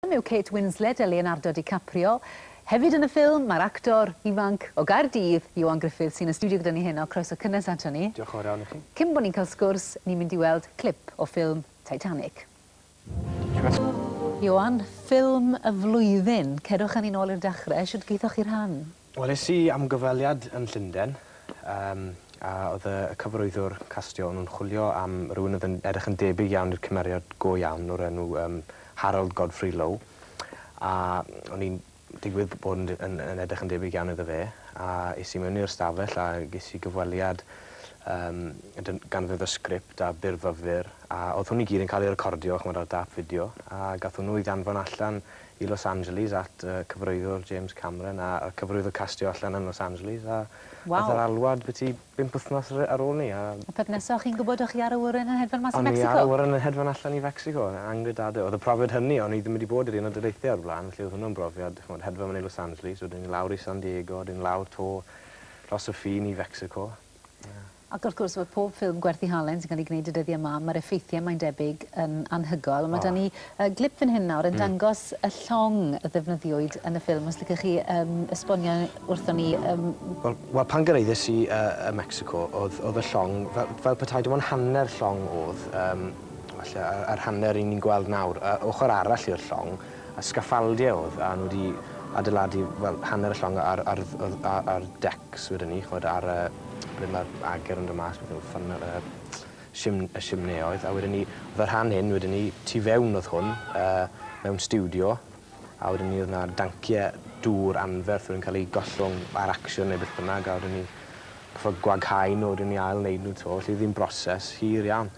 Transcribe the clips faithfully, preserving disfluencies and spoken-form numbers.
Yw Kate Winslet a Leonardo DiCaprio. Hefyd yn y ffilm, mae'r actor ifanc o Gaerdydd, Ioan Gruffudd, sy'n y stiwdio gyda ni heno. Croeso cynnes ato ni. Diolch yn fawr iawn i chi. Cyn bod ni'n cael sgwrs, ni'n mynd i weld clip o ffilm Titanic. Ioan, ffilm y flwyddyn. Cerwch â ni nôl i'r dechrau. Shwt gaethoch chi'r rhan? Wel, es i am gyfweliad yn Llundain, um, a oedd y cyfarwyddwr castio, o'n nhw'n chwilio am rywun oedd yn edrych yn debyg iawn i'r cymeriad go iawn o'r enw um, Harold Godfrey Lowe. A o'n i'n digwydd bod yn, yn, yn edrych yn debyg iawn iddo fe, a es i mewn i'r stafell a ges i gyfweliad um, gan ddefnyddio sgript a byrfyfyr, a oedd hwn i gyd yn cael ei recordio, ch'mod, ar dâp fideo, a gath hwnnw ei ddanfon allan i Los Angeles at uh, cyfarwyddwr James Cameron a, a cyfarwyddwr castio allan yn Los Angeles, a Waw. Gath yr alwad byti bump wythnos ar, ar ôl ni. A Y peth nesaf, chi'n gwybod o'ch chi ar awyren yn hedfan mas i O'n i Mexico? ar awyren yn hedfan allan i Mexico, angredadwy. Oedd y profiad hynny, o'n i ddim wedi bod i'r Unol Daleithiau o'r blaen, felly oedd hwnnw'n brofiad, ch'mod, hedfan mewn i Los Angeles, wedyn i lawr i San Diego, wedyn lawr 'to dros y ffin i Fexico. Ac wrth gwrs, mae pob ffilm gwerth ei halen sy'n cael ei gwneud y dyddiau yma, mae'r effeithiau mae'n debyg yn anhygoel. Mae O. da ni uh, glip fan hyn nawr yn mm. dangos y llong y ddefnyddiwyd yn y ffilm. Os licech chi um, esbonio wrthon ni. Um, Wel, wel pan gyrhaeddes i uh, y Mexico, oedd, oedd y llong, fel, fel petai dim ond hanner llong oedd, um, falle, ar, ar hanner i ni'n gweld nawr, uh, ochr arall i'r llong, a sgaffaldiau oedd, a nhw wedi adeiladu, wel, hanner y llong ar, ar, ar, ar, ar decks wedyn ni, ch'mod, ar, uh, ble mae'r ager yn dod mas, beth yw, ffyn, uh, sim, y simneoedd, a wedyn ni, oedd y rhan hyn, wedyn ni, tu fewn oedd hwn, uh, mewn stiwdio, a wedyn ni oedd 'na danciau dŵr anferth wedi'n cael eu gollwng ar action neu beth bynnag, a wedyn ni gorfod gwaghau nhw, wedyn ni ail wneud nhw 'to, felly oedd hi'n broses hir iawn.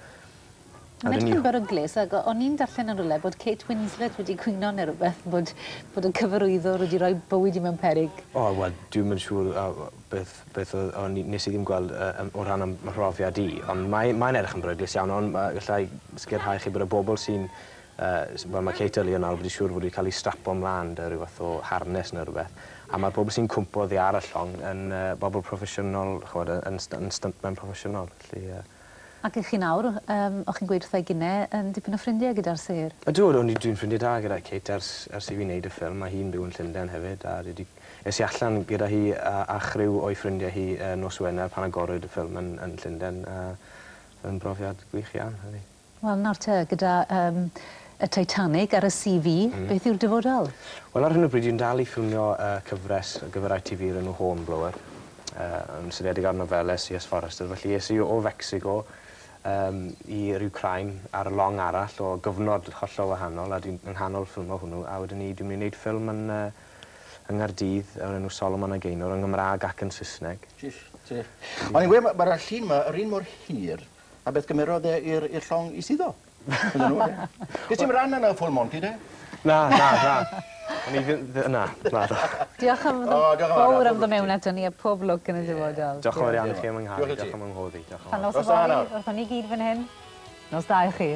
A Mae'n wedyn edrych ni- yn beryglus, ac o'n i'n darllen yn rhywle bod Kate Winslet wedi cwyno neu rhywbeth, bod, bod y cyfarwyddwr wedi rhoi bywyd i mewn peryg. O, wel, dwi'm yn siŵr uh, beth, beth oedd, o'n i, nes i ddim gweld uh, o ran 'y mhrofiad i, ond mae'n mae edrych yn beryglus iawn, ond uh, gallai sicrhau chi bod y bobl sy'n, uh, wel, mae Kate a Leonardo wedi siŵr fod wedi cael ei strapo ymlaen 'da rhyw fath o harness neu rhywbeth, a mae'r bobl sy'n cwmpo oddi ar y llong yn uh, bobl proffesiynol, ch'mod, yn, yn stuntmen proffesiynol, felly... Uh, Ac ych chi nawr, um, o'ch chi'n gweud wrtha i gynne, yn dipyn o ffrindiau gyda'r sêr. Ydw, o'n i dwi'n ffrindiau da gyda Kate ers, ers i fi wneud y ffilm. Mae hi'n byw yn Llundain hefyd, a dwi 'di, es i allan gyda hi a, a chriw o'i ffrindiau hi uh, nos Wener pan agorwyd y ffilm yn, yn Llundain. Uh, yn brofiad gwych iawn, hynny. Wel, nawr te, gyda um, y Titanic ar y C V, mm. beth yw'r dyfodol? Wel, ar hyn o bryd, dwi'n dal i ffilmio uh, cyfres ar gyfer I T V o'r enw Hornblower, uh, yn seiliedig ar nofelau C S. Forester. Felly es i o Fexico um, i'r Ukraine ar y long arall o gyfnod hollol wahanol, a dwi'n yng nghanol ffilmo hwnnw, a wedyn ni dwi'n mynd i wneud ffilm yn, uh, yng Nghaerdydd o'r enw Solomon a Gaynor yn Gymraeg ac yn Saesneg. Jish, ti. O'n i'n gweud, mae'r llun yma yr un mor hir a beth gymerodd e i'r i'r llong i suddo. Ydyn nhw, ie. Ges ti'm ran yna Full Monty, de? Na, na, na. O'n i ddim... Na, na. Diolch am O, diolch yn fawr, fawr am pob ddod mewn ato ni a pob lwc yn y dyfodol. Diolch yn fawr iawn i chi am 'y nghael, Diolch i ti. Diolch am 'y ngwahodd i. Diolch yn Tan fawr. nos Nos da yfory, nawr. wrthon ni gyd fan hyn. Nos da i chi.